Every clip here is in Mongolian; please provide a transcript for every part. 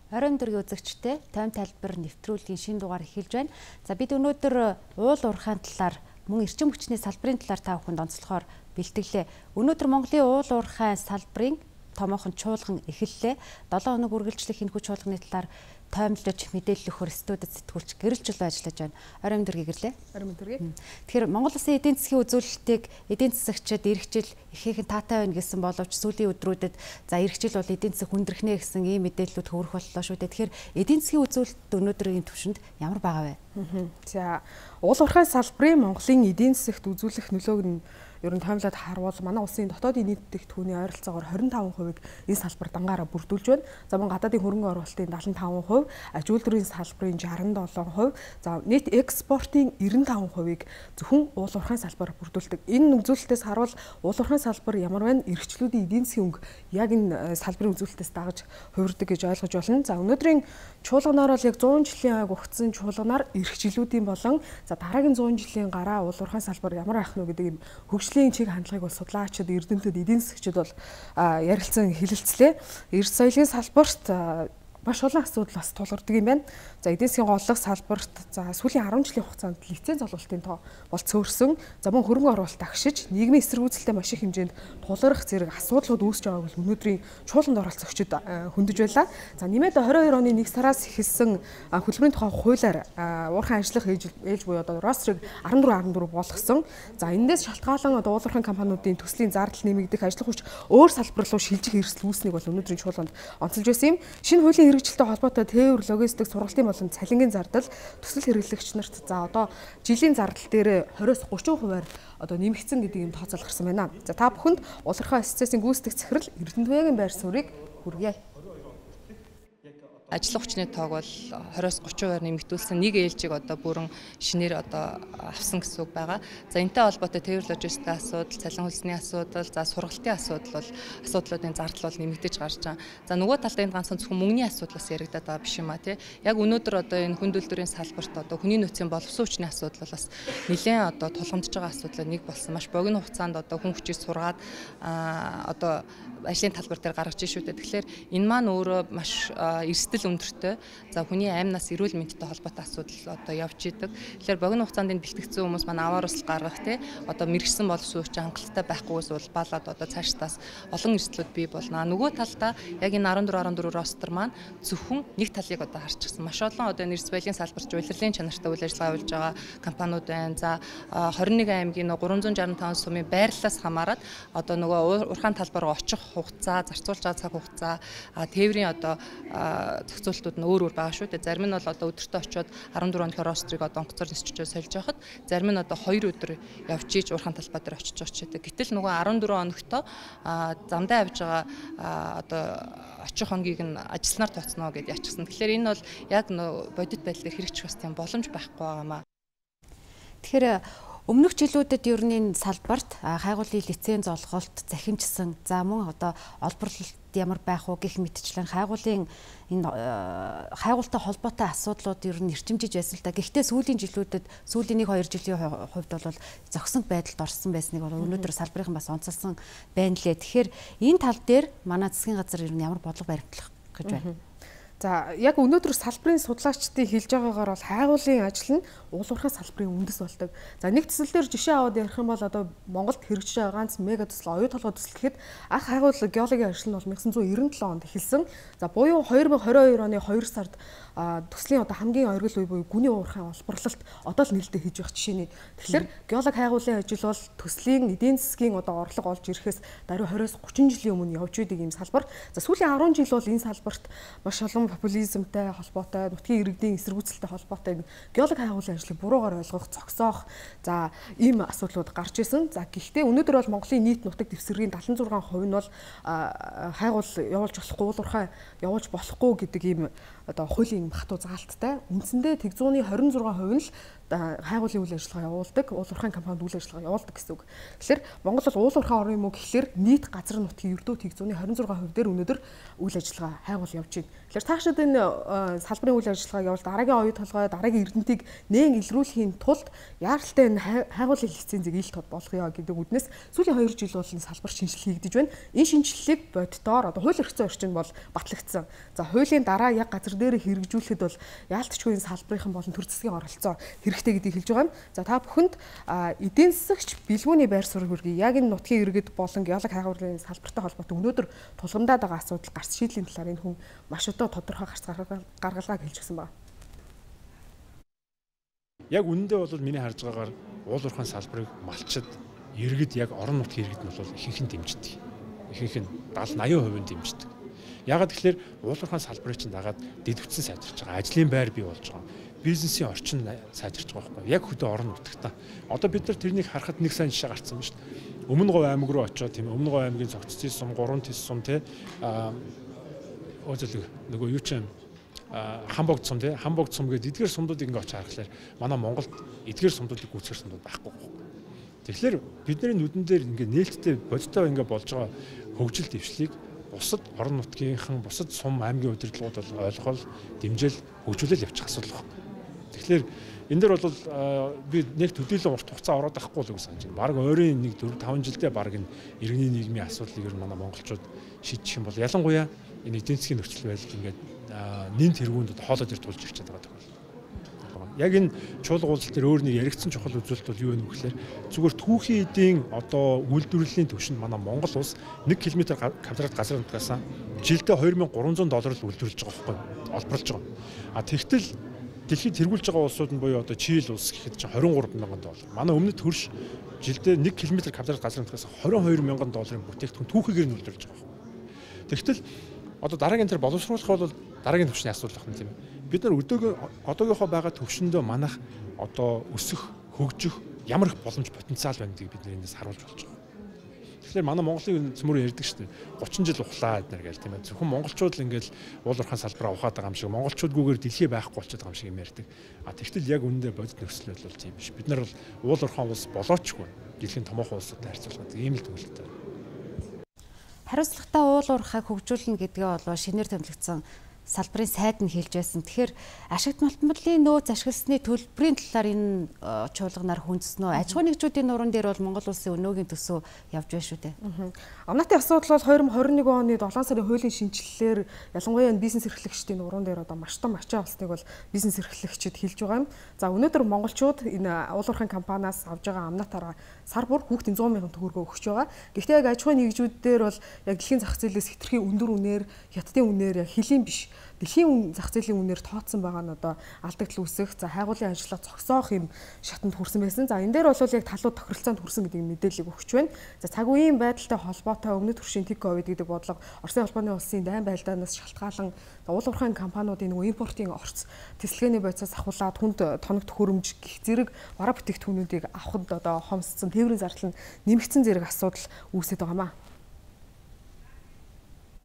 Оройн дөргийн үзэгчтэй тойм тайлбар нэвтрүүлгийн шинэ дугаар эхэлж байна. За бид өнөөдөр уул уурхайн талаар мөн эрчим хүчний салбарын талаар та бүхэнд онцлохоор бэлтгэлээ. Өнөөдөр Монголын уул уурхайн салбарын томоохон чуулган эхэллээ. 7 хоног үргэлжлэх энэ хүч чуулганы талаар тоймлож мэдээлэл өгөхөр студид сэтгүүлч гэрэлжил ажиллаж байна. Оройн дөргийн гэрлээ. Оройн дөргийн. Тэгэхээр Монгол Улсын эдийн засгийн үзүүлэлтийг эдийн засагчид ирэх жил ихээхэн таатай байна гэсэн боловч сүүлийн өдрүүдэд за ирэх жил бол эдийн засаг хүндрэх нэ гэсэн ийм мэдээллүүд хөврөх боллоо шүү дээ. Тэгэхээр эдийн засгийн үзүүлэлт өнөөдрийн түвшинд ямар байгаа вэ? За уул уурхай салбарын Монголын эдийн засагт үзүүлэх нөлөөг нь ер нь тоймлоод харуул манай улсын дотоодын нийт бүтээгдэхүүний ойролцоогоор 25%-ийг энэ салбар дангаараа бүрдүүлж байна. За мөн гадаадын хөрөнгө оруулалтын 75%, аж үйлдвэрийн салбарын 67%, за нийт экспортын 95%-ийг зөвхөн уул уурхайн салбар бүрдүүлдэг. Энэ үзүүлэлтээс харуул уул уурхайн салбар ямар байна? Эрхчлүүдийн эдийн засгийн өнгө яг энэ салбарын үзүүлэлтээс дагаж хувирдаг гэж ойлгож байна. За өнөөдрийн чуулганаар бол яг 100 жилийн ойг угтсан чуулганаар эрхчлүүдийн болон за дараагийн 100 жилийн гараа уул уурхайн салбар ямар байх нь гэдэг юм хөгжлийн чиг хандлагыг бол судлаачид, эрдэмтэд, эдийн засагчид бол ярилцсан хэлэлцлээ. Эрс соёлын салбарт маш олон асуудал бас тулгардаг юм байна. За эдийн засгийн голлох салбарт за сүүлийн 10 жилийн хугацаанд лиценз олголтын тоо бол цөөрсөн. За мөн хөрөнгө оруулалт агшиж, нийгмийн эсэргүүцэлтэй маш их хэмжээнд тулгарх зэрэг асуудлууд үүсэж байгааг бол өнөөдрийн чуулганд оролцогчид хөндөж байлаа. За нэмээд 22 оны 1 сараас эхэлсэн хөдөлмөрийн тухай хуулиар уурхайн ажиллах ээлж буюу одоо рострыг 14 болгосон. За энэндээс шалтгаалan одоо уурхайн компаниудын төслийн зардал нэмэгдэх, ажиллах хүч өөр салбар руу шилжих эрсдэл үүснийг бол өнөөдрийн чуулганд онцолж байсан юм. Шинэ хуулийн хэрэгжилтэй холбоотой тээвэр, логистик, сургалтын болон цалингийн зардал төсөл хэрэглэгч нарт за одоо жилийн зардал дээр 20-30%-аар одоо нэмэгдсэн гэдэг юм тооцоол гарсан байна. За та бүхэнд улирхай ассоциацийн гүйцэтгэх захирал Эрдэнэтбаягийн байр суурийг хүргье. Ажлын хүчний тоог бол 20-30%-аар нэмэгдүүлсэн. Нэг ээлжийг одоо бүрэн шинээр одоо авсан гэсэн үг байгаа. За энэтэй холбоотой тээвэр логистикийн асуудал, цалин хөлсний асуудал, за сургалтын асуудлуудын зардал бол нэмэгдэж гарч байгаа. За нөгөө талд энэ ганцхан зөвхөн мөнгөний асуудлаас яригадаад байгаа биш юм а тий. Яг өнөөдөр одоо энэ хүнд үйлдвэрийн салбарт одоо хүний нөөцийн боловсон хүчний асуудал бол бас нэлээд одоо тулгамдж байгаа асуудал нэг болсон. Маш богино хугацаанд одоо хүн хүчийг сургаад одоо ажлын талбар дээр гаргаж шүү дээ. Тэгэхээр энэ маань өөрөө маш эрсдэл өндөртэй. За хүний аймнаас эрүүл мэндтэй холбоотой асуудал одоо явж идэг. Тэгэхээр богино хугацаанд энэ бэлтгэгдсэн хүмүүс маань аваар усл гаргах тий одоо мэрэгсэн боловсон хүч хангалттай байхгүйс бол балаад одоо цаашдаас олон эрсдлүүд бий болно. Нөгөө талдаа яг энэ 14 ростер маань зөвхөн нэг талыг одоо харчихсан. Маш олон одоо энэ эрс баялагын салбарт улирлын чанартай үйл ажиллагаа явуулж байгаа компаниуд байна. За 21 аймгийн 365 сумын байрлалаас хамаарат одоо нөгөө уурхайн талбар руу очих хугацаа, зарцуулж байгаа цаг хугацаа, тээврийн одоо зохицуултууд нь өөр байгаа шүү дээ. Зарим нь бол одоо өдөртөө очиод 14 өнөөр рострыг одоо онгоцоор нисчиж сольж байхад, зарим нь одоо 2 өдөр явж ийж уурхайн талбай дээр очиж байгаа ч гэдэг. Гэтэл нөгөө 14 өнөختөө замдаа явж байгаа одоо очих хонгийг нь ажилланаар тооцноо гэдээ ячсан. Тэгэхээр энэ бол яг бодит байдлаар хэрэгжих бас тийм боломж байхгүй байгаамаа. Тэгэхээр өмнөх жилүүдэд ер нь энэ салбарт хайгуулын лиценз олголт захимжсан. За мөн одоо олборлолт ямар байх уу гэх мэтчлэн хайгуулын энэ хайгуултай холбоотой асуудлууд ер нь эрчимжиж байсан л да. Гэхдээ сүүлийн жилүүдэд сүүлийн 1-2 жилийн хувьд бол зогсон байдалд орсон байсныг бол өнөөдөр салбарын бас онцолсон байна лээ. Тэгэхээр энэ тал дээр манай засгийн газар ер нь ямар бодлого баримтлах гэж байна? За яг өнөөдөр салбарын судлаачдын хэлж байгаагаар бол хайгуулын ажил нь уул уурхай салбарын үндэс болдог. За нэг төсөл дээр жишээ аваад ярих юм бол одоо Монголд хэрэгжиж байгаа ганц мега төсөл, оюу толгой төсөл гэхэд анх хайгуул геологийн ажил нь бол 1997 онд эхэлсэн. За буюу 2022 оны 2 сард төслийн одоо хамгийн оргил үе буюу гүний уурхайн олборлолт одоо л нээлттэй хийж байгаа жишээний. Тэгэхээр геолог хайгуулын ажил бол төслийн эдийн засгийн одоо орлого олж ирэхээс даруй 20-30 жилийн өмнө явж идэг юм салбар. За сүүлийн 10 жил бол энэ салбарт маш олон популизмтай холбоотой, нутгийн иргэдийн эсэргүүцэлтэй холбоотой геолог хайгуулын ажлыг буруугаар ойлгох, зогсоох за ийм асуудлууд гарч исэн. За гэхдээ өнөөдөр бол Монголын нийт нутаг дэвсгэрийн 76% нь бол хайгуул явуулж болохгүй, уул уурхай явуулж болохгүй гэдэг ийм одоо хуулийн хатуу заалттай. Үндсэндээ тэг 126% нь л хайгуулын үйл ажиллагаа явуулдаг, уул уурхайн компанид үйл ажиллагаа явуулдаг гэсэн үг. Тэгэхээр Монгол бол уул уурхай орон юм уу гэхэлэр нийт газар нутгийн ердөө тэг 26% дээр өнөөдөр үйл ажиллагаа хайгуул явж байна. Тэгэхээр та цаашид энэ салбарын үйл ажиллагааг явуул дараагийн оюу толгой, дараагийн эрдэнтийг нээн илрүүлэхийн тулд яаралтай энэ хайгуулын лицензийг ил тод болгоё гэдэг үднэс сүүлийн 2 жил бол энэ салбар шинжилгээ хийгдэж байна. Энэ шинжилгээг боддоор одоо хууль эрхцэн орчин бол батлагдсан. За хуулийн дараа яг газар дээр хэрэгжүүлэхэд бол яалтчгүй энэ салбарынхан болон төр засгийн оролцоо хэрэгтэй гэдгийг хэлж байгаа юм. За та бүхэнд эдийн засагч бэлгүүний байр суурь хүргэе. Яг энэ нутгийн иргэд болон геолог хайгуулын салбартай холбоотой өнөөдөр тулгамдаад байгаа асуудал гарц шийдлийн талаар энэ хүн маш одоо тодорхой гарц гаргалгааг хэлж гисэн байна. Яг үнэндээ бол миний харж байгаагаар уул уурхайн салбарыг малчид иргэд яг орон нутгийн иргэд нь бол ихэнх нь дэмждэг. Ихэнх нь 70-80% дэмждэг. Ягаад гэвэл уул уурхайн салбарыг чинь дагаад дэдвцэн сайжирч байгаа. Ажлын байр бий болж байгаа. Бизнесийн орчин сайжирч байгаа байхгүй. Яг хөдөө орон нутгатаа. Одоо бид нар тэрнийг харахад нэг сайн жишээ гарцсан байна шүү дээ. Өмнө Говь аймаг руу очиод тийм Өмнө Говь аймгийн цогццын сум, 3 тис сум тий нөгөө юу ч юм Хамбогд сум тий Хамбогд сум гэдэг эдгээр сумдуудыг ингээ очиж харахаар манай Монголд эдгээр сумдуудыг гүйцэтгэх сумдууд байхгүй. Тэгэхээр бидний нүдэн дээр ингээ нээлттэй бодиттой ингээ болж байгаа хөгжил дэвшлийг бусад орон нутгийнхан, бусад сум аймгийн удирдлагууд бол ойлгол, дэмжэл, хөгжүүлэл явуучих асуудал байна. Тэгэхээр энэ дээр бол би нэг төдийлөн урт хугацаа ороод байхгүй л гэж санаж байна. Бараг ойрын нэг 4-5 жилдээ бараг энэ иргэний нийгмийн асуудлыг манай монголчууд шийдчих юм бол ялангуяа энэ эдийн засгийн нөхцөл байдал ингээд нэн тэргуунд хоолой дээр тулж ирчээд байгаа тохиол. Яг энэ чуулга уулзалт дээр өөр нэг яригдсан чухал үзүүлэлт бол юу вэ гэхээр зүгээр түүхийн эдийн одоо үйлдвэрлэлийн түвшинд манай Монгол улс 1 км квадрат газар нутгаас жилдээ $2,300 л үйлдвэрлэж байгаа байхгүй олборлож байгаа. А тэгтэл дэлхийд тэргүүлж байгаа улсууд нь буюу одоо Чили улс гэхэд чинь $23,000. Манай өмнөд хөрш жилдээ 1 км квадрат газар нутгаас $22,000 бүтээгдэхүүн түүхийгээр нь үйлдвэрлэж байгаа. Тэгтэл одоо дараагийн тэр боловсруулах бол дараагийн түвшний асуудал байна тийм ээ. Бид нар одоогийнхоо байгаа төвшөндөө манах одоо өсөх, хөгжих ямар их боломж потенциал байна гэдгийг бид энэс харуулж болж байгаа. Тэгэхээр манай Монголын цөмөр ярьдаг шүү дээ. 30 жил ухлаа эднэр гээл тийм ээ. Зөвхөн монголчууд л ингээл уул уурхайн салбараа ухаад байгаа юм шиг, монголчуудгүйгээр дэлхий байхгүй болчиход байгаа юм шиг юм ярьдаг. А тэгтэл яг үүндээ бодит нөхцөл байдал бол тийм биш. Бид нар бол уул уурхайн улс болоочгүй. Дэлхийн томоохон улсуудтай харьцуулахад ийм л төвлөлттэй. Хариуцлагатай уул уурхайг хөгжүүлнэ гэдгээ болоо шинээр томилогдсон салбарын сайд нь хэлж байсан. Тэгэхээр ашигт малтмалын нөөц ашигласны төлбөрийн талаар энэ чуулганаар хүндснөө. Аж ахуйн нэгжүүдийн нуруунд дээр бол Монгол улсын өнөөгийн төсөв явж байна шүү дээ. Амнатын асуудал бол 2021 оны 7 сарын хуулийн шинжилэлээр ялангуяа энэ бизнес эрхлэгчдийн нуруунд дээр одоо маш том ачаа болсныг бол бизнес эрхлэгчид хэлж байгаа юм. За өнөөдөр монголчууд энэ уул уурхайн компаниас авж байгаа амнатаараа сар бүр хүүхдийн 100,000 төгрөгөө өгч байгаа. Гэхдээ яг аж ахуйн нэгжүүдээр бол яг дэлхийн зах зээлээс хэтэрхий өндөр үнээр, хятадын үнээр яг хэлийн биш дэлхийн зах зээлийн үнээр тооцсон байгаа нь одоо алдагдал үүсэх, за хайгуулын ажлаа зогсоох юм шатанд хүрсэн байсан. За энэ дээр бол яг талууд тохиролцоонд хүрсэн гэдэг мэдээллийг өгч байна. За цаг үеийн байдалтай холбоотой өмнөд төршийн тик ковид гэдэг бодлого Оросын холбооны улсын дайн байлдаанаас шалтгаалan уул уурхайн компаниудын импортын орц тэсэлгээний бодисоос ахуулаад хүнд тоног төхөөрөмж гэх зэрэг бараа бүтээгдэхүүнүүдийг авахд одоо хомсцсон тээврийн зардал нь нэмэгдсэн зэрэг асуудал үүсэж байгаамаа.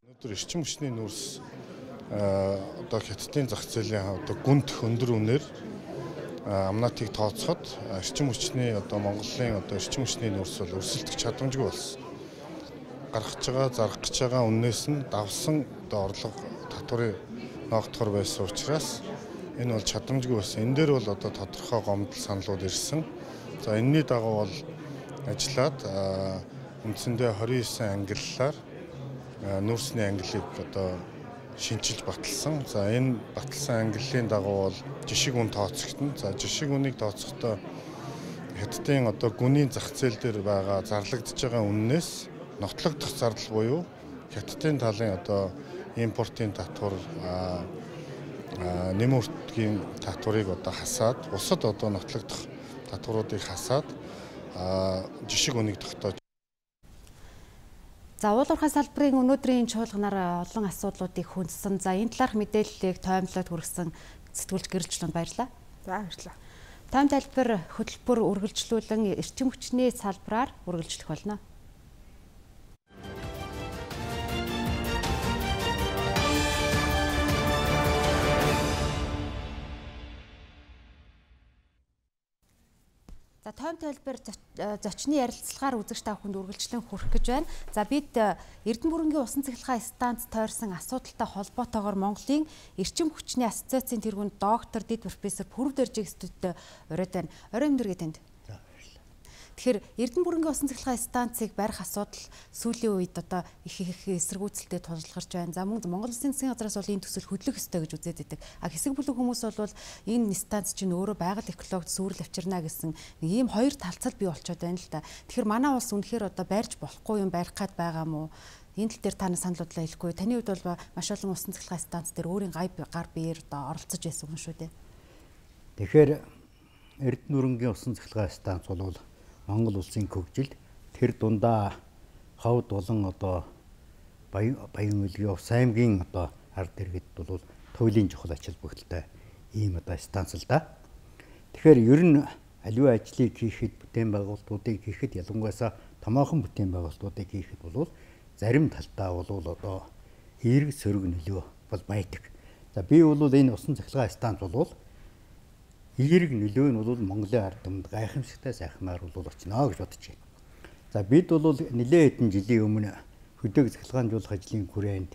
Өнөөдөр эрчим хүчний нөөц одоо хятадын зах зээлийн одоо гүнт өндөр үнээр амнатыг тооцоход эрчим хүчний одоо Монголын одоо эрчим хүчний нөөц бол өрсөлдөх чадамжгүй болсон. Гаргаж байгаа, зарах гэж байгаа үнээс нь давсан одоо орлого татварыг ноогдохор байсан учраас энэ бол чадамжгүй байсан. Энэ дээр бол одоо тодорхой гомдол саналууд ирсэн. За энэний дагуу бол ажиллаад үндсэндээ 29 ангиллаар нөөцний ангиллыг одоо шинжилж баталсан. За энэ баталсан ангиллын дагуу бол жишг үн тооцогдсон. За жишг үнийг тооцохдоо хятадын одоо гүний зах зээл дээр байгаа зарлагдж байгаа үннээс нотлогдох зардал буюу хятадын талын одоо импортын татвар нэмэртгийн татварыг одоо хасаад бусад одоо нотлогдох татваруудыг хасаад жишг үнийг тогтоож. За уул уурхай салбарын өнөөдрийн чуулганаар олон асуудлуудыг хүндсэн. За энэ талаарх мэдээллийг тоймлоод хүргэсэн сэтгүүлч Гэрэлжлэнд баярлалаа. За баярлалаа. Тайм тайлбар хөтөлбөр үргэлжлүүлэн эрчим хүчний салбараар үргэлжлэх болно. За тойм тайлбар зочны ярилцлагаар үзэгч та бүхэнд үргэлжлэн хүрэх гэж байна. За бид Эрдэнэ бүрэнгийн усан цахилгаан станц тойрсон асуудалтай холбоотойгоор Монголын Эрчим хүчний ассоциацийн тэргүүнд доктор Дэд профессор Пүрэв Дөржиг студид оройд байна. Орой өндөөргөө танд. Тэгэхээр Эрдэнэ бүрэнгийн усан цахилгаан станцыг барих асуудал сүүлийн үед одоо их эсэргүүцэлтэд тулгарч байна. За мөн Монгол Улсын засгийн газраас бол энэ төсөл хөдлөх ёстой гэж үзээд байдаг. Хэсэг бүлэг хүмүүс бол энэ станц чинь өөрөө байгаль экологид сүрэл авчирна гэсэн нэг ийм хоёр талцал бий болчиход байна л да. Тэгэхээр манай улс үнэхээр одоо барьж болохгүй юм барих гээд байгаа мó? Энэ тал дээр таны санал бодлоо хэлэхгүй. Таны хувьд бол маш олон усан цахилгаан станц дээр өөрийн гар биеэр одоо оролцож байсан юм шүү дээ. Тэгэхээр Эрдэнэ бүрэнгийн усан цахилгаан станц бол Монгол улсын хөгжилд тэр дундаа ховд болон одоо Баян үлгийн Увс аймгийн одоо ард иргэд бол туйлын чухал ач холбогдолтой ийм одоо станц л да. Тэгэхээр ер нь аливаа ажлыг хийхэд бүтээн байгуулалтуудыг хийхэд ялангуяа томоохон бүтээн байгуулалтуудыг хийхэд бол зарим талдаа бол одоо эерэг сөрөг нөлөө бол байдаг. За би бол энэ усан цахилгаан станц бол эерэг нөлөө нь бол Монголын ард түмэнд гайхамшигтай сайхнаар бол очно гэж бодож байна. За бид бол нэлээд хэдэн жилийн өмнө хөдөг цахилгаанжуулах ажлын хүрээнд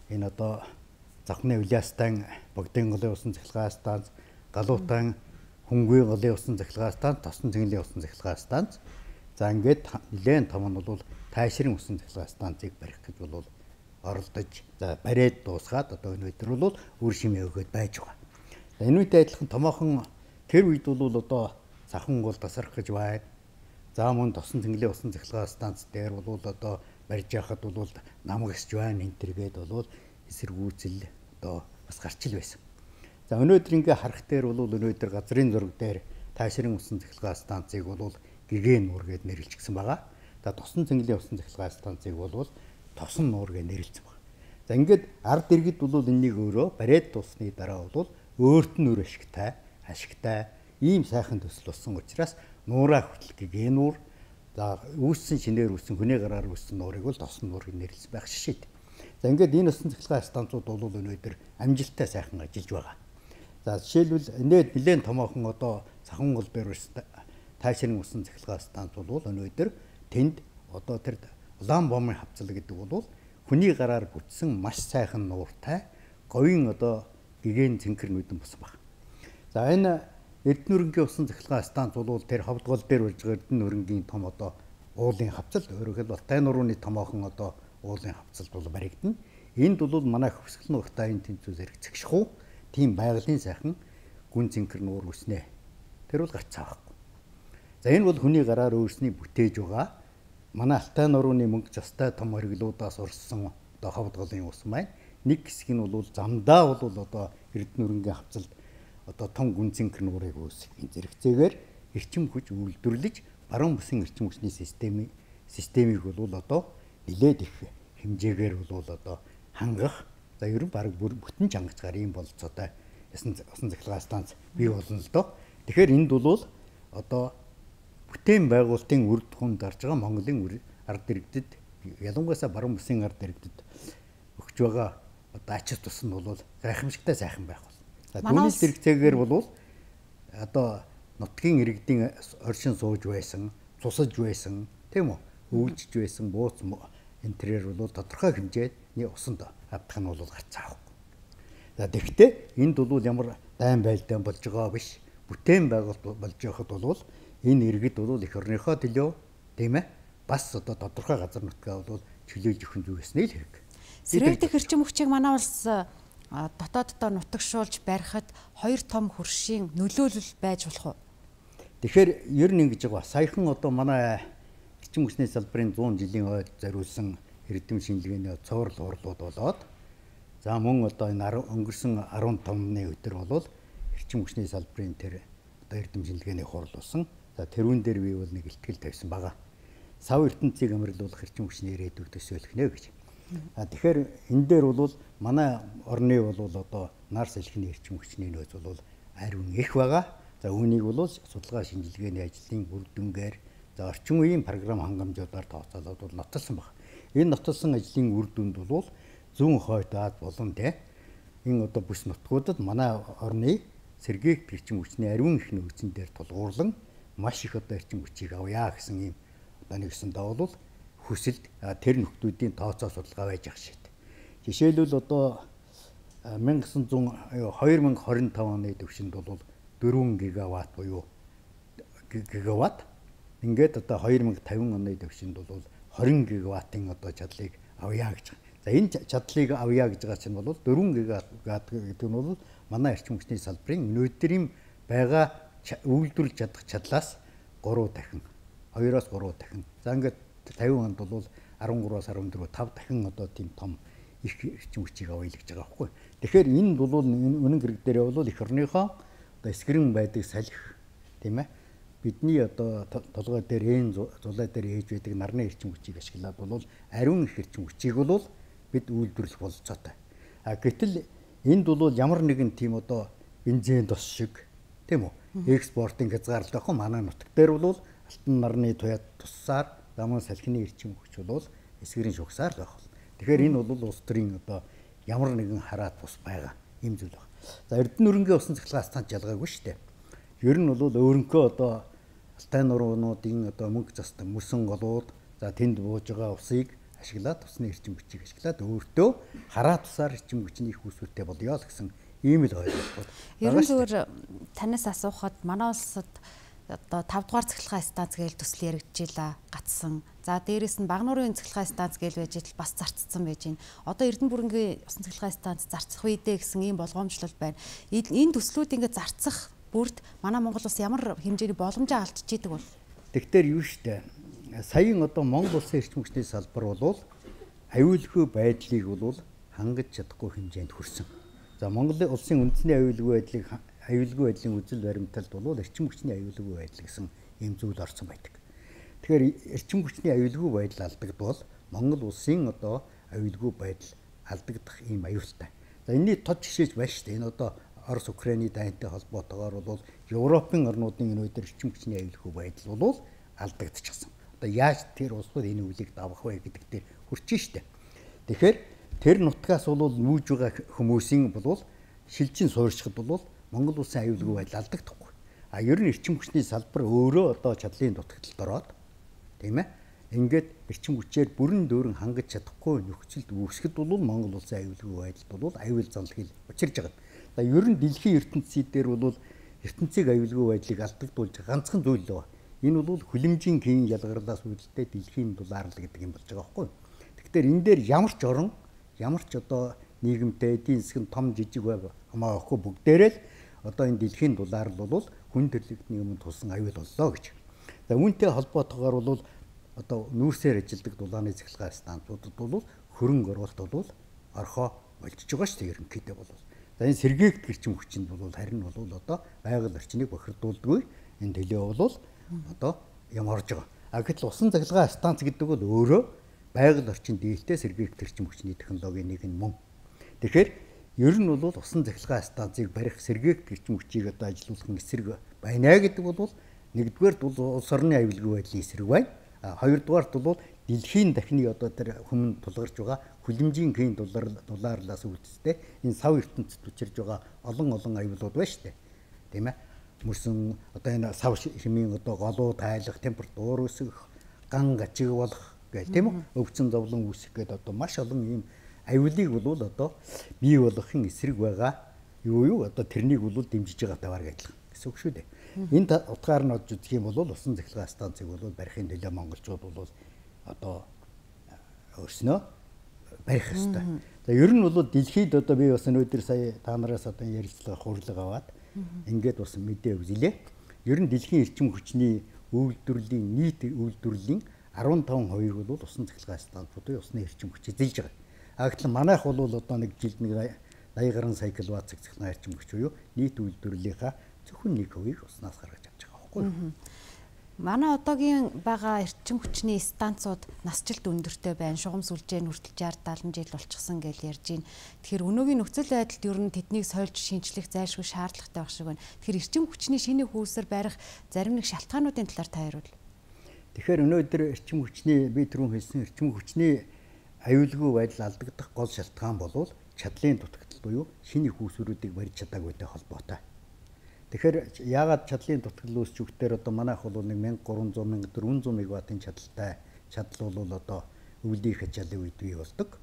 энэ одоо Завхны Улиастан Богдын голын усан цахилгаан станц, Галуутан Хөнгөө голын усан цахилгаан станц, Тосон цэнгэлийн усан цахилгаан станц. За ингээд нэлээд том нь бол Тайшрын усан цахилгаан станцыг барих гэж бол оролдож за бариад дуусгаад одоо энэ өдөр бол үр шимээ өгөөд байж байгаа. Энэ үедээ адилхан томоохон тэр үед бол одоо Сахан гол тасрах гэж байна. За мөн Тосон цэнгэлийн усан цахилгаан станц дээр бол одоо барьж яхад бол намгасж байна энэ төргээд бол эсэргүүцэл одоо бас гарч ил байсан. За өнөөдөр ингээ харах дээр бол өнөөдөр газрын зураг дээр Тайшрын усан цахилгаан станцыг бол Гэгэн нуур гэд нэрлэлчихсэн байгаа. За Тосон цэнгэлийн усан цахилгаан станцыг бол Тосон нуур гэд нэрлэлсэн байна. За ингээд ард иргэд бол энэнийг өөрөө бариад дуусны дараа бол өөрт нь өөр ашигтай ийм сайхан төсөл болсон учраас нуураа хүртэл Гэгэн нуур за үүссэн шинээр үүссэн хүний гараар үүссэн нуурыг бол Тосон нуур гэж нэрлсэн байх шишээд. За ингээд энэ усан цахилгаан станцууд бол өнөөдөр амжилттай сайхан ажиллаж байгаа. За жишээлбэл нэлээд томоохон одоо Сахан гол дээр Тайшрын усан цахилгаан станц бол өнөөдөр тэнд одоо тэр улаан бомын хавцал гэдэг бол хүний гараар бүтсэн маш сайхан нууртай говийн одоо Гэгэн цэнхэр нүдэн болсон баг. За энэ Эрдэнэ бүрэнгийн усан цахилгаан станц бол тэр ховдгол дээр болж байгаа Эрдэнэ бүрэнгийн том одоо уулын хавцал өөрөөр хэлбэл Алтай нурууны томоохон одоо уулын хавцалд бол баригдана. Энд бол манай хөвсгөл нуртай энэ тэнцүү зэрэгцэх хуу тийм байгалийн сайхан гүн цэнхэр нуур үснэ. Тэр бол гарцаа байхгүй. За энэ бол хүний гараар өөрсний бүтээж байгаа. Манай Алтай нурууны мөнгө застай том хориглуудаас урссан одоо ховдголын ус маань нэг хэсэг нь бол замдаа бол одоо Эрдэнэ бүрэнгийн хавцалд одоо том гүн цэнхэр нуурыг үүсэх энэ зэрэгцээгээр эрчим хүч үйлдвэрлэж баруун бүсийн эрчим хүчний системийг бол одоо нэлээд их хэмжээгээр бол одоо хангах за ер нь баг бүтэн чангацгаар ийм болцоотой усан цахилгаан станц бий болно л доо. Тэгэхээр энд бол одоо бүтээн байгуулалтын үр дүнд гарч байгаа Монголын ард иргэдэд ялангуяа баруун бүсийн ард иргэдэд өгч байгаа одоо ач тус нь бол гайхамшигтай сайхан байх бол. За түүний зэрэгцээгээр бол одоо нутгийн иргэдийн оршин сууж байсан, цусаж байсан, тийм үү? Өвлжж байсан бууц энтрээр бол тодорхой хэмжээний усанд авдах нь бол гарцаа авахгүй. За тэгэхдээ энд бол ямар дайн байлдаан болж байгаа биш. Бүтээн байгуулалт болж байхад бол энэ иргэд бол эх орныхоо төлөө тийм ээ бас одоо тодорхой газар нутгаа бол чөлөөлж өгөх зүйл гэснээ л хэрэг. Сэрэг дэх эрчим хүчийг манай улс дотооддоо нутагшуулж барихад хоёр том хөршийн нөлөөлөл байж болох уу? Тэгэхээр ер нь ингэж байгаа. Саяхан одоо манай эрчим хүчний салбарын 100 жилийн ойд зориулсан эрдэм шинжилгээний цоврал хурлууд болоод за мөн одоо энэ өнгөрсөн 15-ны өдөр бол эрчим хүчний салбарын тэр одоо эрдэм шинжилгээний хурал болсон. За тэрүүн дээр би бол нэг ихтгэл тавьсан байгаа. Сав ертөнцийг амарлуулах эрчим хүчний ирээдүйг төсөөлөх нэ гэж. Тэгэхээр энэ дээр бол манай орны бол одоо нар салхины эрчим хүчний нөөц бол ариун их байгаа. За үүнийг бол судалгаа шинжилгээний ажлын үр дүнгээр за орчин үеийн програм хангамжуудаар тооцоолоод бол нотолсон байна. Энэ нотолсон ажлын үр дүнд бол зүүн хойд Аад болон энэ одоо бүс нутгуудад манай орны сэргээгт эрчим хүчний ариун их нөөцөн дээр тулгуурлан маш их одоо эрчим хүчийг авъя гэсэн ийм одоо нэгсэндээ бол хүсэлд тэр нөхдүүдийн тооцоо судалгаа байж ах шít. Жишээлбэл одоо 2025 оны төвшөнд бол 4 гигаватт буюу гигаватт. Ингээд одоо 2050 оны төвшөнд бол 20 гигаваттын одоо чадлыг авъя гэж байна. За энэ чадлыг авъя гэж байгаа чинь бол 4 гигаватт гэдэг нь бол манай эрчим хүчний салбарын өнөөдрийн байгаа үйлдвэрлэж чадах чадлаас 3 дахин 2-оос 3 дахин. За ингээд 50 онд бол 13-аас 14 5 дахин одоо тийм том их эрчим хүчийг авъя гэж байгаа байхгүй. Тэгэхээр энэ бол үнэн хэрэг дээр бол эх орныхоо одоо эсгэрэн байдаг салхи тийм ээ. Бидний одоо толгой дээр зулай дээр ээж байдаг нарны эрчим хүчийг ашиглаад бол ариун их эрчим хүчийг бол бид үйлдвэрлэх болцоотой. Гэтэл энд бол ямар нэгэн тийм одоо бензин тос шиг тийм үү? Экспортын хязгаарлалт ахгүй манай нутаг дээр бол алтан нарны туяа туссаар замун салхины эрчим хүч бол эсгэрийн шугсаар л байх. Тэгэхээр энэ бол улс төрийн одоо ямар нэгэн хараат бус байгаа юм зүйл байна. За Эрдэнэ нүүрэнгийн усан цахилгаан станц ялгаагүй шүү дээ. Ер нь бол өөрөнхөө одоо алтай нуруудын одоо мөнгө застан мөсөн голууд за тэнд бууж байгаа усыг ашиглаад усны эрчим хүчийг ашиглаад өөртөө хараат усаар эрчим хүчний их үүсвэртэй болёо л гэсэн ийм л ойлголт байна. Ер нь зөвөр танаас асуухад манай улсад одоо 5 дугаар цахилгаан станц гээл төсөл яригдчихлаа гацсан. За дээрэс нь Багнуурын цахилгаан станц гээл байж идэл бас зарцсан байж байна. Одоо Эрдэнэ бүрэнгийн усан цахилгаан станц зарцах үедээ гэсэн ийм болгоомжлол байна. Энэ төслүүд ингээд зарцах бүрд манай Монгол улс ямар хэмжээний боломжоо алдчихж идэг бол. Тэгэхээр юу штэ. Саяын одоо Монгол улсын эрчим хүчний салбар бол аюулгүй байдлыг бол хангаж чадахгүй хэмжээнд хүрсэн. За Монголын улсын үндэсний аюулгүй байдлын үзэл баримталд бол эрчим хүчний аюулгүй байдал гэсэн ийм зүйл орсон байдаг. Тэгэхээр эрчим хүчний аюулгүй байдал алдагдвал Монгол улсын одоо аюулгүй байдал алдагдах ийм аюултай. За энэний тод жишээж байна шүү дээ. Энэ одоо Орос Украины дайнтай холбоотойгоор бол Европын орнуудын өнөөдөр эрчим хүчний аюулгүй байдал бол алдагдчихсан. Одоо яаж тэр улсууд энэ үлийг давах вэ гэдэг дээр хүрчин шүү дээ. Тэгэхээр тэр нутгаас бол нүүж байгаа хүмүүсийн бол шилжин суурьшихад бол Монгол улсын аюулгүй байдал алдагдахгүй. Ер нь эрчим хүчний салбар өөрөө одоо чадлын дутагдлалд ороод тийм ээ. Ингээд эрчим хүчээр бүрэн дөөрн хангаж чадахгүй нөхцөлд үүсгэхэд бол Монгол улсын аюулгүй байдалд бол аюул занлахыг учирж байгаа. За ер нь дэлхийн ертөнцийн дээр бол ертөнцийг аюулгүй байдлыг алдагдуулж ганцхан зүйл л байна. Энэ бол хүлэмжийн хийн ялгарлаас үүдэлтэй дэлхийн дулаарлал гэдэг юм болж байгаа байхгүй. Тэгэхээр энэ дээр ямар ч орон, ямар ч одоо нийгэмтэй эдийн засгийн том жижиг байг хамаагүй бүгдээрээ л одоо энэ дэлхийн дулаарлал бол хүн төрлөختний өмнө тулсан аюул боллоо гэж. За үүнтэй холбоотойгоор бол одоо нүүрсээр ажилдаг дулааны цахилгаан станцуудад бол хөрөнгө оруулалт бол орхоо болчихж байгаа шүү дээ ерөнхийдөө бол. За энэ сэргээгдэх эрчим хүчинд бол харин бол одоо байгаль орчныг бохирдуулдаггүй энэ төлөө бол одоо юм орж байгаа. Гэтэл усан цахилгаан станц гэдэг бол өөрөө байгаль орчин дийлтэй сэргээгдэх эрчим хүчний технологийн нэг нь мөн. Тэгэхээр ер нь бол усан цахилгаан станцыг барих сэргээгдэх эрчим хүчийг одоо ажилуулах эсрэг байна гэдэг бол нэгдүгээрт бол улс орны аюулгүй байдлын эсрэг байна. Хоёрдугаарт бол дэлхийн дахны одоо тэр хүмүүнд тулгарч байгаа хүлэмжийн хийн дулаарлаас үүдтэй энэ сав ертөнцид учирж байгаа олон аюулууд байна шүү дээ. Тийм ээ. Мөрсөн одоо энэ сав хэмийн одоо голуу тайлах, температур өсөх, ган гажиг болох гэх тийм үү? Өвчин зовлон үүсэх гэдэг одоо маш олон ийм аюулыг бол одоо бий болгохын эсрэг байгаа. Юу одоо тэрнийг бол дэмжиж байгаа таваар адилхан гэсэн үг шүү дээ. Энэ утгаар нь одж үзэх юм бол усан цахилгаан станцыг бол барихын төлөө монголчууд бол одоо өөрснөө барих ёстой. За ер нь бол дэлхийд одоо би бас өнөөдөр сая та нараас одоо ярилцлага хурлага аваад ингээд бас мэдээ өгүүлээ. Ер нь дэлхийн эрчим хүчний үйлдвэрлэлийн нийт үйлдвэрлэлийн 15% бол усан цахилгаан станцуудын усны эрчим хүч эзэлж байгаа. Гэтэл манайх бол одоо нэг жилд нэг 80 гаруй сая киловатт цахилгаан эрчим хүч буюу нийт үйлдвэрлэлийнхаа зөвхөн 1%-ийг уснаас гаргаж авч байгаа байхгүй юу? Манай одоогийн байгаа эрчим хүчний станцууд насжилт өндөртэй байна. Шугам сүлжээ нь хүртэл 60 70 жил болчихсон гэж ярьж байна. Тэгэхээр өнөөгийн нөхцөл байдалд ер нь тэднийг сольж шинжлэх зайлшгүй шаардлагатай байх шиг байна. Тэгэхээр эрчим хүчний шинэ хөөсөр барих зарим нэг шалтгаануудын талаар та хариул. Тэгэхээр өнөөдөр эрчим хүчний би түрүүн хэлсэн эрчим хүчний аюулгүй байдал алдагдах гол шалтгаан бол чадлын дутагдал буюу шинэ их үүсвэрүүдийг барьж чадаагүйтэй холбоотой. Тэгэхээр яагаад чадлын дутагдал үүсч өгөхдөр одоо манайх бол 1300 1400 мегаваттын чадал бол одоо өвлийн хажаалын үед бий болдог.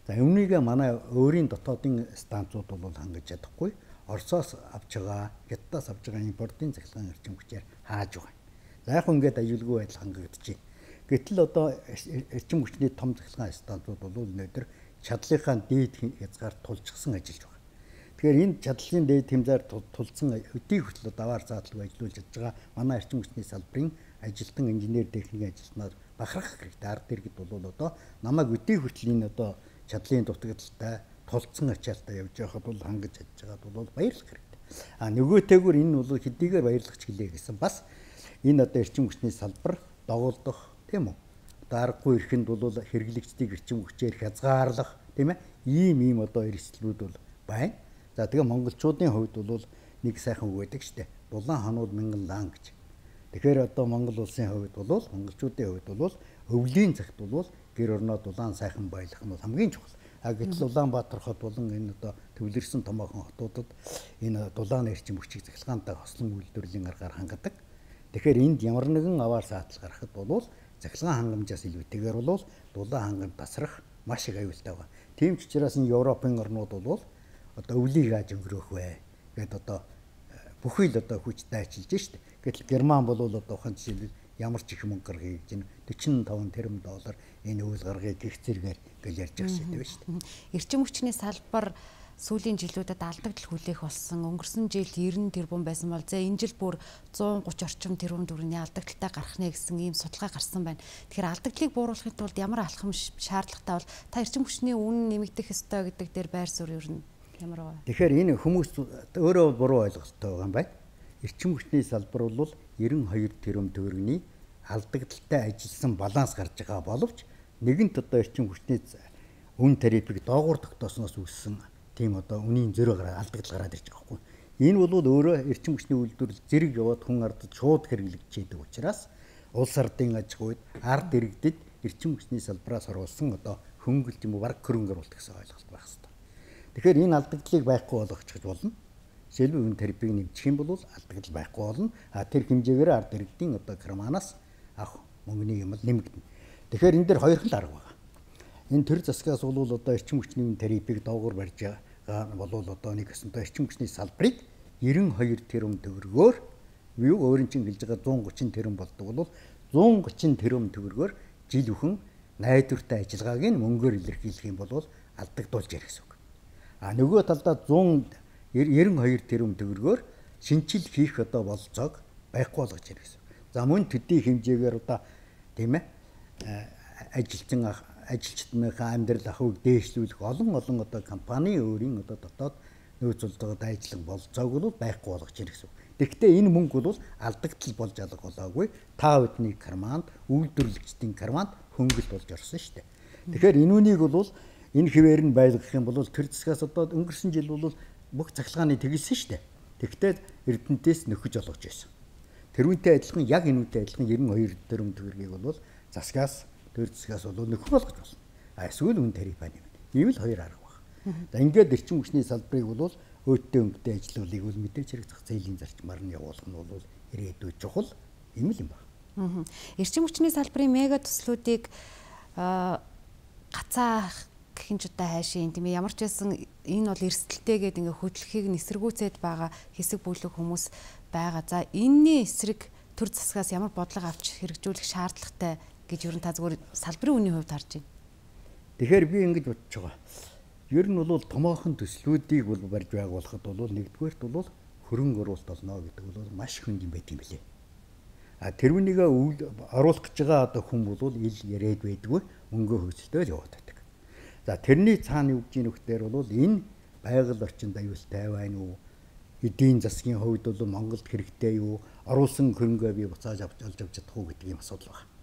За үүнийгээ манай өөрийн дотоодын станцууд бол хангаж чадахгүй. Оросоос авч байгаа, Хятадаас авч байгаа импортын цахилгаан эрчим хүчээр хааж байгаа. За яг ингээд аюулгүй байдал хангагдаж байна. Гэтэл одоо эрчим хүчний том цахилгаан станцууд бол өнөөдөр чадлынхаа дээд хязгаар тулжчихсан ажиллаж байгаа. Тэгэхээр энэ чадлын дээд хэмжээр тулцсан өдий хүртэл даваар задлаг ажиллуулж байгаа манай эрчим хүчний салбарын ажилтан инженер техникийн ажилтнаар бахархах хэрэгтэй. Ард иргэд бол одоо намайг өдий хүртэл энэ одоо чадлын дутагдaltaй тулцсан ачаалтаа явж байхад бол хангаж чадж байгаад бол баярлах хэрэгтэй. Нөгөөтэйгүр энэ бол хэдийгээр баярлах ч гэлээ гэсэн бас энэ одоо эрчим хүчний салбар догуулдах тийм үү? Одоо аргагүй эрхэнд бол хэрэглэгчдийг эрчим хүчээр хязгаарлах тийм ээ? Ийм одоо эрсдлүүд бол байна. За тэгээ монголчуудын хувьд бол нэг сайхан үг байдаг шүү дээ. Дулаан ханууд мянган лаан гэж. Тэгэхээр одоо Монгол улсын хувьд бол монголчуудын хувьд бол өвлийн цагт бол гэр орноо дулаан сайхан байлгах нь хамгийн чухал. Гэтэл Улаанбаатар хот болон энэ одоо төвлөрсөн томоохон хотуудад энэ дулааны эрчим хүчийг цахилгаантай хослон үйлдвэрлэлийн аргаар хангадаг. Тэгэхээр энд ямар нэгэн аваар саатал гарахад бол цахилгаан хангамжаас илүүтэйгээр бол дулаан хангамж тасрах маш их аюултай байна. Тийм ч учраас энэ Европын орнууд бол одоо өвлийг яаж өнгөрөөх вэ гэдээ одоо бүхий л одоо хүчтэй ажиллаж штэ. Гэтэл Герман бол одоо ухаан жишээлбэл ямар ч их мөнгө гаргая гэж 45 тэрбум доллар энэ үйл гаргая гэх зэрэгээр гэл ярьж байгаа шүү дээ шүү дээ. Эрчим хүчний салбар сүүлийн жилүүдэд алдагдал хүлээх болсон. Өнгөрсөн жил 90 тэрбум байсан бол энэ жил бүр 130 орчим тэрбум төгрөгийн алдагдaltaй гарах нэ гэсэн ийм судалгаа гарсан байна. Тэгэхээр алдагдлыг бууруулахын тулд ямар алхам шаардлагатай бол та эрчим хүчний үнэ нэмэгдэх ёстой гэдэг дээр байр суурь юу ямар вэ? Тэгэхээр энэ хүмүүс өөрөө буруу ойлголттой байгаа юм байна. Эрчим хүчний салбар бол 92 тэрбум төгрөгийн алдагдaltaй ажилласан баланс гарч байгаа боловч нэгэнт одоо эрчим хүчний үн тарифыг доогуур тогтоосноос үүссэн тийм одоо үнийн зөрөө алдагдал гараад ирж байгаа хгүй. Энэ бол өөрөө эрчим хүчний үйлдвэрлэл зэрэг яваад хүн ардд шууд хэрэглэгдчихэд учраас улс ардын аж ахуйд ард иргэдэд эрчим хүчний салбараас оруулсан одоо хөнгөлт юм уу бараг хөрөнгө оруулалт гэсэн ойлголт байх хэрэгтэй. Тэгэхээр энэ алдагдлыг байхгүй болгочих болно. Жишээлбэл үн тарифыг нэмчих юм бол алдагдал байхгүй болно. Тэр хэмжээгээр ард иргэдийн одоо карманаас авах мөнгөний юм нэмэгдэнэ. Тэгэхээр энэ дээр хоёр хэл арга байна. Энэ төр засгаас бол одоо эрчим хүчний үн тарифыг доогуур барьж байгаа бол одоо нэг өсөнтэй эрчим хүчний салбарыг 92 тэрбум төгрөгөөр юу өөрийн чинь гэлж байгаа 130 тэрбум болдог бол 130 тэрбум төгрөгөөр жил бүхэн найдвартай ажиллагааг нь мөнгөөр илэрхийлэх юм бол алдагдуулж ярих гэсэн үг. Нөгөө талдаа 192 тэрбум төгрөгөөр шинжил хийх одоо болцоог байхгүй болгож ярих гэсэн. За мөн төдий хэмжээгээр одоо тийм ээ ажилчдынхаа амьдрал ахуйг дээшлүүлэх олон одоо компани өөрийн одоо дотоод нөөцлөлтөд ажиллах болцоог бол байхгүй болгож ирэх гэсэн. Тэгэхдээ энэ мөнгө бол алдагдал болж алга болоогүй. Та бүдний карманд, үйлдвэрлэгчдийн карманд хөнгөлт болж орсон шүү дээ. Тэгэхээр энүүнийг бол энэ хിവэр нь байлгах юм бол төр засгаас одоо өнгөрсөн жил бол бүх цахилгааны тэгэлсэн шүү дээ. Тэгэхдээ Эрдэнэтээс нөхөж олгож байсан. Тэрүүнтэй адилхан яг энүүтэй адилхан 92 тэрбум төгрөгийг бол засгаас төр засгаас бол нөхөх болгож болно. Эсвэл үн тариф байна юм. Ийм л хоёр арга байна. За ингээд эрчим хүчний салбарыг бол өөдтэй өнгөтэй ажиллуулыг бол мэдээж хэрэг зах зээлийн зарчмаар нь явуулах нь бол ирээдүйд чухал юм л юм байна. Эрчим хүчний салбарын мега төслүүдийг гацаах гэх ч удаа хайшин тийм ээ ямар ч байсан энэ бол эрсдэлтэйгээд ингээ хөдлөхийг нисэргүүцээд байгаа хэсэг бүлэг хүмүүс байгаа. За энэний эсрэг төр засгаас ямар бодлого авч хэрэгжүүлэх шаардлагатай гэж ер нь та зөвхөн салбарын үнийн хувьд харж байна. Тэгэхээр би ингэж бодож байгаа. Ер нь бол томоохон төслүүдийг бол барьж байгуулахад бол нэгдүгээрт бол хөрөнгө оруулалт олно гэдэг бол маш хүнд юм байт юм билээ. Тэрүүнийг оруулах гэж байгаа одоо хүн бол ил яриад байдгүй мөнгө хөөцөлтөөр яваад байдаг. За тэрний цаана юу гэж нөхдөр бол энэ байгаль орчинд аюултай байна уу? Эдийн засгийн хувьд бол Монголд хэрэгтэй юу? Оруулсан хөрөнгөө би буцааж олж авч чадах уу гэдэг юм асуудал байна.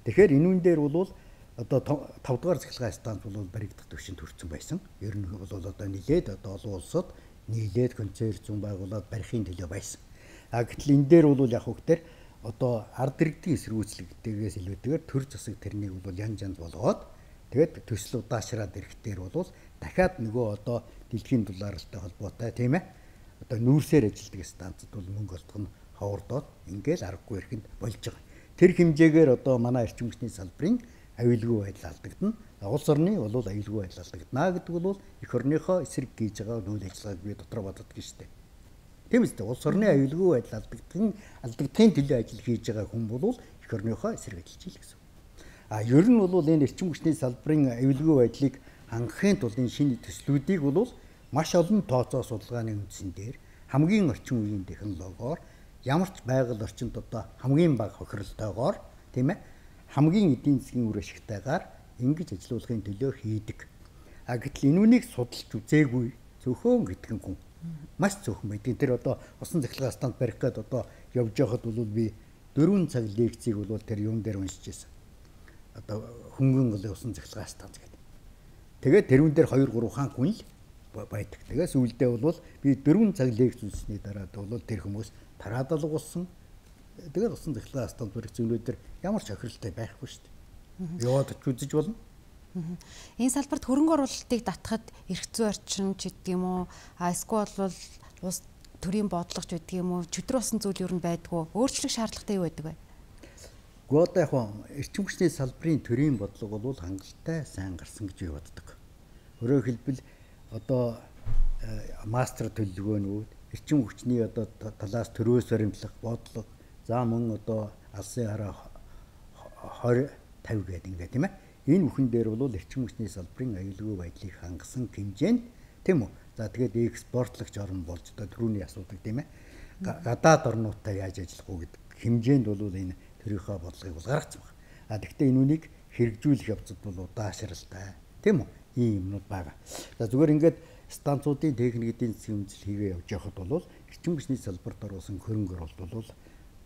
Тэгэхээр энүүн дээр бол одоо 5 дугаар цахилгаан станц бол баригдах төвшөнд хүрсэн байсан. Ер нь бол одоо нилээд одоо олон улсад нийлээд концерт зүүн байгуулад барихын төлөө байсан. Гэтэл энэ дээр бол яг хөвгтэр одоо ард иргэдийн эсэргүүцлэгтэйгээс илүүтэйгээр төр засаг тэрнийг бол янз болгоод тэгээд төсөл удаашраад ирэхтэр бол дахиад нөгөө одоо дэлхийн доллартай холбоотой тийм ээ одоо нүүрсээр ажилладаг станцад бол мөнгө олдох нь ховордоод ингээл аргагүй ирэхэд болж байгаа. Тэр хэмжээгээр одоо манай эрчим хүчний салбарын аюулгүй байдал алдагдана. Улс орны бол аюулгүй байдал алдагдана гэдэг бол эх орныхоо эсрэг хийж байгаа үйл ажиллагааг би дотроо боддог шүү дээ. Тийм үстэй улс орны аюулгүй байдал алдагдахын төлөө ажил хийж байгаа хүн бол эх орныхоо эсрэг ажиллаж ийл гэсэн. Ер нь бол энэ эрчим хүчний салбарын аюулгүй байдлыг хангахын тулд энэ шинэ төслүүдийг бол маш олон тооцоо судалгааны үндсэн дээр хамгийн орчин үеийн технологиор ямар ч байгаль орчинд одоо хамгийн бага хохиролтойгоор тийм ээ хамгийн эдийн засгийн үр ашигтайгаар ингэж ажилуулахын төлөө хийдэг. Гэтэл энүүнийг судалж үзээгүй зөвхөн гэтгэн хүн маш зөвхөн байдаг. Тэр одоо усан цахилгаан станц барих гээд одоо явж байхад бол би 4 цаг лекцийг бол тэр юм дээр уншиж байсан. Одоо хөнгөн голын усан цахилгаан станц гэдэг. Тэгээд тэрүүн дээр 2-3 хаан хүн л байдаг. Тэгээс үлдээ бол би 4 цаг лекц үзсний дараа бол тэр хүмүүс тараад алгуулсан. Тэгээд усан цахилгаан станц барих зүйлүүдээр ямар ч охиролтой байхгүй шүү дээ. Яваад ч үзэж болно. Энэ салбарт хөрөнгө оруулалтыг татахад эрх зүйн орчин ч гэдэг юм уу, эсвэл бол улс төрийн бодлого ч гэдэг юм уу, чөтгөр болсон зүйл юу н байдгүй. Өөрчлөх шаардлагатай юу байдаг вэ? Гэхдээ яг эрчим хүчний салбарын төрийн бодлого бол хангалттай сайн гарсан гэж би боддог. Өөрөөр хэлбэл одоо мастер төлөвлөгөөнүүд эрчим хүчний одоо талаас төрөөс баримтлах бодлого за мөн одоо алсын хараа 20-50 гэдэг ингээд тийм ээ. Энэ бүхэн дээр бол эрчим хүчний салбарын аюулгүй байдлыг хангасан хэмжээнд тийм үү. За тэгээд экспортлогч орн болж одоо түрүүний асуудаг тийм ээ. Гадаад орнуудтай яаж ажиллах уу гэдэг хэмжээнд бол энэ төрийнхөө бодлогыг бол гаргацсан байна. Тэгэхдээ энүүнийг хэрэгжүүлэх явцад бол удаашралтай тийм үү. Ийм юмнууд байгаа. За зүгээр ингээд станцуудын техник эдийн засгийн үндэслэл хийгээ явж явахад бол эрчим хүчний салбарт оруулсан хөрөнгө оруулалт бол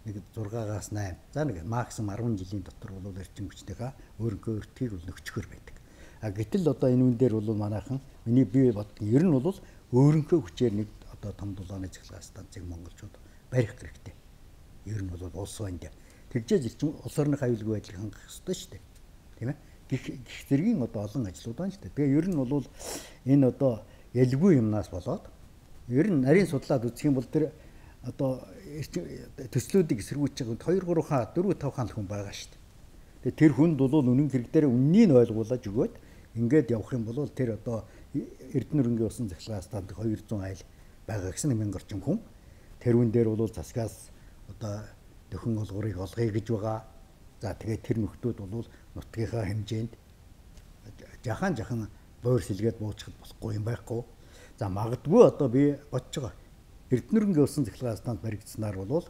нэг 6-аас 8 за нэг максимум 10 жилийн дотор бол эрчим хүчтэйгээ өөрөнгөө өртгийг бол нөхчгөр байдаг. Гэтэл одоо энэ үн дээр бол манайхан миний бие бодсон ер нь бол өөрөнгөө хүчээр нэг одоо том дулааны цахилгаан станцыг монголчууд барих хэрэгтэй. Ер нь бол улс байнд тэгжээж эрчим улс орны аюулгүй байдлыг хангах ёстой шүү дээ. Тийм ээ. Гэх зэргийн одоо олон ажлууд байна шүү дээ. Тэгээ ер нь бол энэ одоо ялгүй юмнаас болоод ер нь нарийн судлаад үзэх юм бол тэр одоо төслүүдийг эсэргүүцэж байгаа 2-3 хаа 4-5 хаан хүн байгаа шүү дээ. Тэгээ тэр хүнд бол үнэн хэрэг дээр үннийг ойлгуулж өгөөд ингээд явах юм бол тэр одоо Эрдэнэ-Өрөнгийн усан цахилгаан станцд 200 айл байгаа гэсэн 1000 орчим хүн тэрүүн дээр бол засгаас одоо дөхөн олгорыг олгоё гэж байгаа. За тэгээд тэр нөхдүүд бол нутгийнхаа хэмжээнд жахан буур сэлгээд буучихад болохгүй юм байхгүй. За магадгүй одоо би бодож байгаа. Эрдэнэ-Өрөнгийн усан цахилгаан станц баригдсанаар бол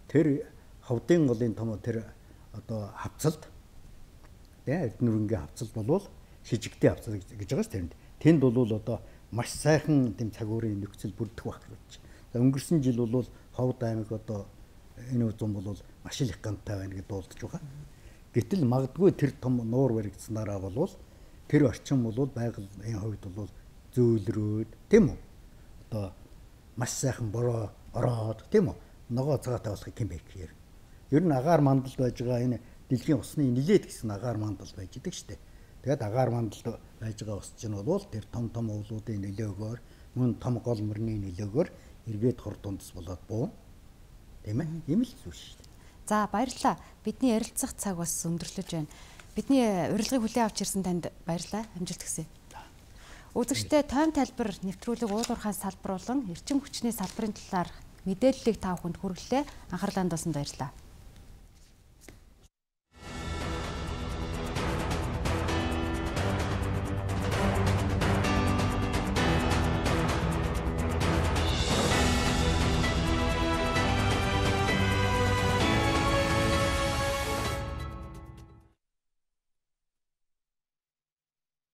тэр ховдын голын том тэр одоо хавцалд Эрдэнэ-Өрөнгийн хавцалд бол шижигтэй хавцал гэж байгаа шүү дээ. Тэнд бол одоо маш сайхан тэм цагуурын нөхцөл бүрдэх байх гэж. За өнгөрсөн жил бол Ховд аймаг одоо энэ үзэн бол маш их гантай байна гэж дуулдаж байгаа. Гэтэл магадгүй тэр том нуур баригдсанараа бол тэр орчин бол байгалийн хувьд бол зөөлрөөд тийм үү? Одоо маш сайхан бороо ороод тийм үү? Ногоо цагаатай болохыг хэн бэ гэхээр. Ер нь агаар мандалд байж байгаа энэ дэлхийн усны нилээд гэсэн агаар мандал байж идэг штэ. Тэгээд агаар мандалд байж байгаа ус чинь бол тэр том уулуудын нөлөөгөөр мөн том гол мөрний нөлөөгөөр эргээд хор дундас болоод буу. Тийм ээ? Ийм л зүйл шүү дээ. За баярлалаа. Бидний ярилцах цаг бас өндөрлөж байна. Бидний урилгыг хүлээн авч ирсэн танд баярлалаа. Амжилт хүсье. Үзэгчдээ тойм тайлбар нэвтрүүлэг уулуурхаас салбарлан эрчим хүчний салбарын талаар мэдээллийг та бүхэнд хүргэлээ. Анхаарлаа хандуулсанд баярлалаа.